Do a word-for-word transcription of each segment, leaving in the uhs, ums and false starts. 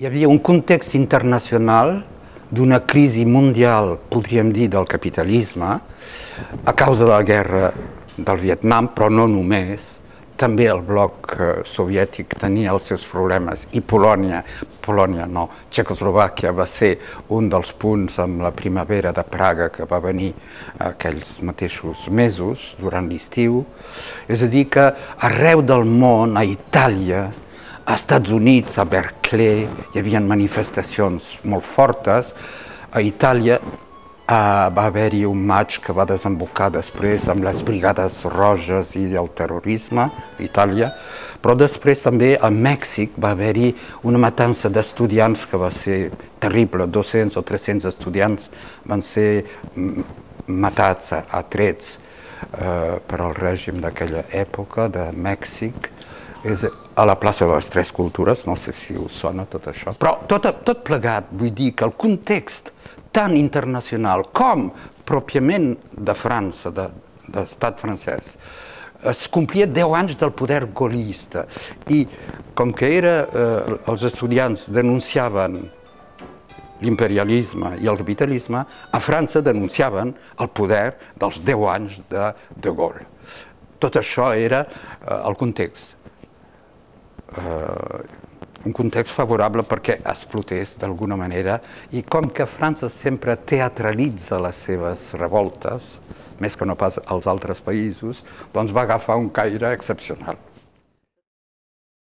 Hi havia un context internacional d'una crisi mundial, podríem dir, del capitalisme, a causa de la guerra del Vietnam, però no només. També el bloc soviètic tenia els seus problemes i Polònia, Polònia no, Txecoslovàquia va ser un dels punts amb la primavera de Praga que va venir aquells mateixos mesos durant l'estiu. És a dir que arreu del món, a Itàlia, als Estats Units, a Berkeley, hi havia manifestacions molt fortes. A Itàlia va haver-hi un maig que va desembocar després amb les Brigades Roges i el terrorisme d'Itàlia, però després també a Mèxic va haver-hi una matança d'estudiants que va ser terrible. dos-cents o tres-cents estudiants van ser matats a trets per al règim d'aquella època de Mèxic. És a la plaça de les Tres Cultures, no sé si us sona tot això. Però tot, tot plegat, vull dir que el context tan internacional com pròpiament de França, de, de l'estat francès, es complia deu anys del poder gaullista i com que era, eh, els estudiants denunciaven l'imperialisme i el capitalisme, a França denunciaven el poder dels deu anys de De Gaulle. Tot això era eh, el context. Uh, un context favorable perquè explotés d'alguna manera i com que França sempre teatralitza les seves revoltes, més que no pas als altres països, doncs va agafar un caire excepcional.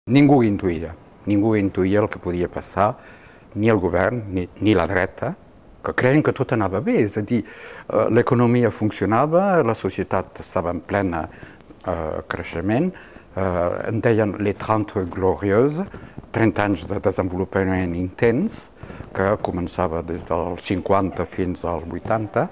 Ningú intuïa, ningú intuïa el que podia passar, ni el govern ni, ni la dreta, que creien que tot anava bé, és a dir, uh, l'economia funcionava, la societat estava en plena uh, creixement, Uh, en deien les trente glorieuses, trenta anys de desenvolupament intens, que començava des dels cinquanta fins als vuitanta.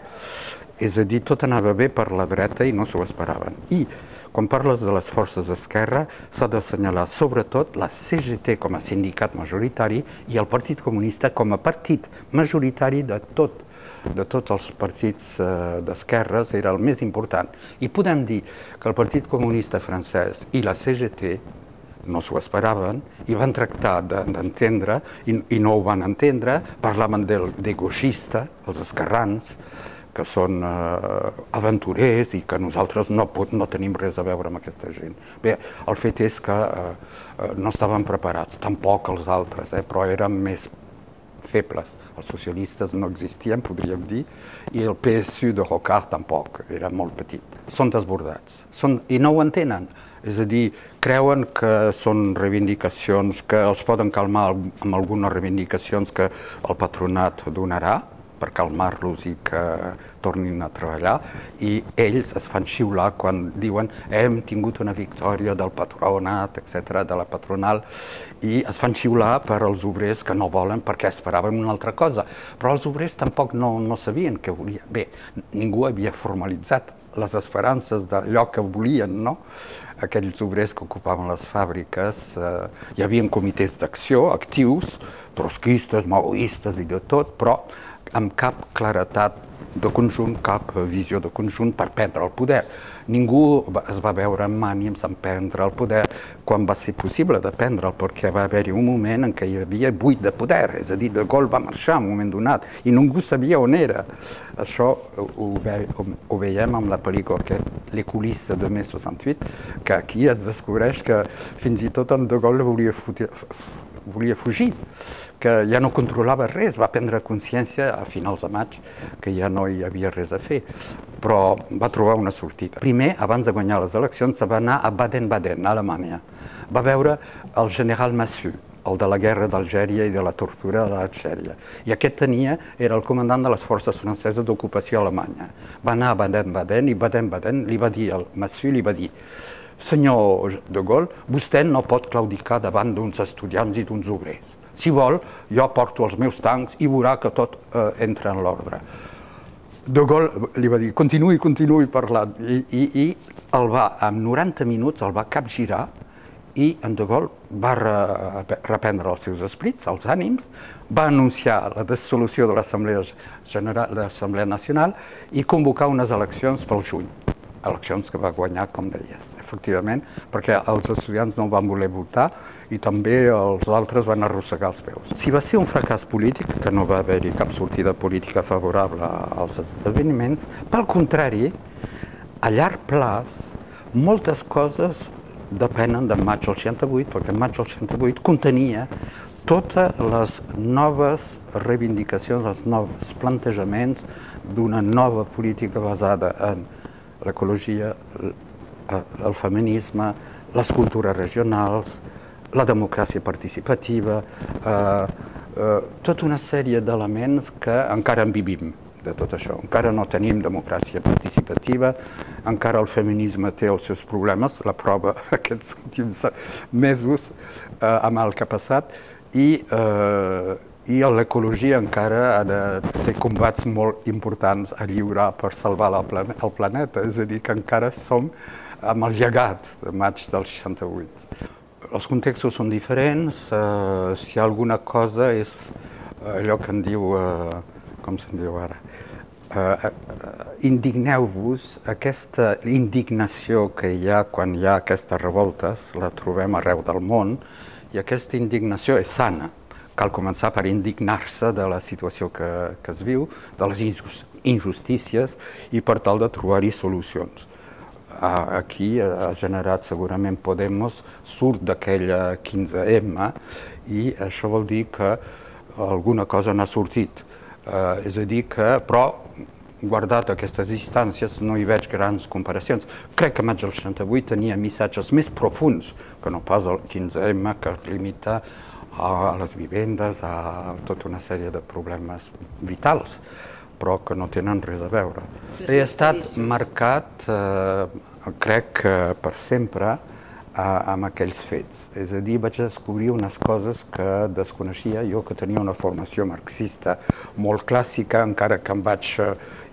És a dir, tot anava bé per la dreta i no s'ho esperaven. I quan parles de les forces d'esquerra, s'ha d'assenyalar sobretot la C G T com a sindicat majoritari i el Partit Comunista com a partit majoritari de tot de tots els partits d'esquerres, era el més important. I podem dir que el Partit Comunista francès i la C G T no s'ho esperaven i van tractar d'entendre, i no ho van entendre, parlaven de gauchista, els esquerrans, que són aventurers i que nosaltres no tenim res a veure amb aquesta gent. Bé, el fet és que no estaven preparats, tampoc els altres, però eren més febles. Els socialistes no existien, podríem dir, i el P S U de Rocard tampoc, era molt petit. Són desbordats, i no ho entenen. És a dir, creuen que són reivindicacions, que els poden calmar amb algunes reivindicacions que el patronat donarà, per calmar-los i que tornin a treballar, i ells es fan xiular quan diuen hem tingut una victòria del patronat, etcètera, de la patronal, i es fan xiular per als obrers que no volen perquè esperaven una altra cosa. Però els obrers tampoc no, no sabien què volien. Bé, ningú havia formalitzat les esperances d'allò que volien, no? Aquells obrers que ocupaven les fàbriques, eh, hi havia comitès d'acció actius, trotskistes, maoistes i de tot, però amb cap claretat de conjunt, cap visió de conjunt per prendre el poder. Ningú es va veure amb ànims en prendre el poder quan va ser possible de prendre'l, perquè va haver-hi un moment en què hi havia buit de poder, és a dir, De Gaulle va marxar en un moment donat i ningú sabia on era. Això ho, ve, ho veiem amb la pel·lícula Les coulisses de mai seixanta-vuit, que aquí es descobreix que fins i tot en De Gaulle volia fotre, volia fugir, que ja no controlava res, va prendre consciència a finals de maig que ja no hi havia res a fer, però va trobar una sortida. Primer, abans de guanyar les eleccions, va anar a Baden-Baden, a Alemanya. Va veure el general Massu, el de la guerra d'Algèria i de la tortura de l'Algèria. I aquest tenia, era el comandant de les forces franceses d'ocupació alemanya. Va anar a Baden-Baden i Baden-Baden li va dir, el Massu li va dir: senyor De Gaulle, vostè no pot claudicar davant d'uns estudiants i d'uns obrers. Si vol, jo porto els meus tancs i veurà que tot eh, entra en l'ordre. De Gaulle li va dir, continuï, continuï parlant, i, i, i el va, en noranta minuts el va capgirar i en De Gaulle va re, reprendre els seus esprits, els ànims, va anunciar la dissolució de l'Assemblea General, de l'Assemblea Nacional i convocar unes eleccions pel juny. eleccions que va guanyar, com deies, efectivament, perquè els estudiants no van voler votar i també els altres van arrossegar els peus. Si va ser un fracàs polític, que no va haver-hi cap sortida política favorable als esdeveniments, pel contrari, a llarg plaç, moltes coses depenen de maig del seixanta-vuit, perquè maig del seixanta-vuit contenia totes les noves reivindicacions, els nous plantejaments d'una nova política basada en l'ecologia, el feminisme, les cultures regionals, la democràcia participativa, eh, eh, tota una sèrie d'elements que encara en vivim de tot això. Encara no tenim democràcia participativa, encara el feminisme té els seus problemes, la prova aquests últims mesos eh, amb el que ha passat, i, eh, i l'ecologia encara ha de té combats molt importants a lliurar per salvar el, plan el planeta, és a dir, que encara som amb el llegat de maig del seixanta-vuit. Els contextos són diferents, eh, si hi ha alguna cosa és allò que en diu, eh, com se'n diu ara, eh, indigneu-vos, aquesta indignació que hi ha quan hi ha aquestes revoltes, la trobem arreu del món, i aquesta indignació és sana. Cal començar per indignar-se de la situació que, que es viu, de les injustícies, i per tal de trobar-hi solucions. Aquí ha generat segurament Podemos, surt d'aquella quinze ema i això vol dir que alguna cosa n'ha sortit. Eh, és a dir que, però, guardat aquestes distàncies, no hi veig grans comparacions. Crec que maig del seixanta-vuit tenia missatges més profunds que no pas el quinze ema, que es limita a les vivendes, a tota una sèrie de problemes vitals, però que no tenen res a veure. He estat marcat, eh, crec que per sempre, eh, amb aquells fets. És a dir, vaig descobrir unes coses que desconeixia, jo que tenia una formació marxista molt clàssica, encara que em vaig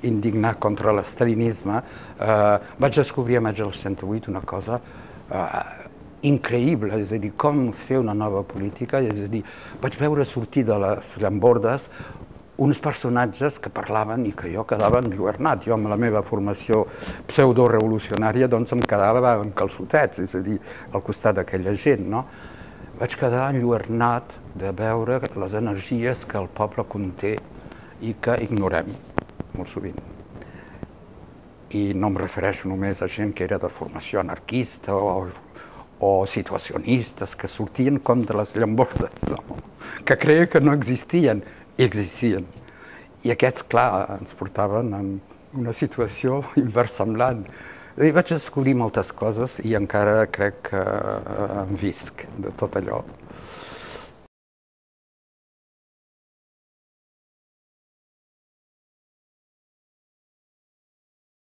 indignar contra l'estalinisme, eh, vaig descobrir a maig del seixanta-vuit una cosa eh, increïble, és a dir, com fer una nova política, és a dir, vaig veure sortir de les llambordes uns personatges que parlaven i que jo quedava enlluernat. Jo, amb la meva formació pseudo-revolucionària, doncs em quedava en calçotets, és a dir, al costat d'aquella gent, no? Vaig quedar enlluernat de veure les energies que el poble conté i que ignorem molt sovint. I no em refereixo només a gent que era de formació anarquista o, o situacionistes, que sortien com de les llambordes, no? Que creia que no existien, i existien. I aquests, clar, ens portaven en una situació inversemblant. I vaig descobrir moltes coses i encara crec que em visc de tot allò.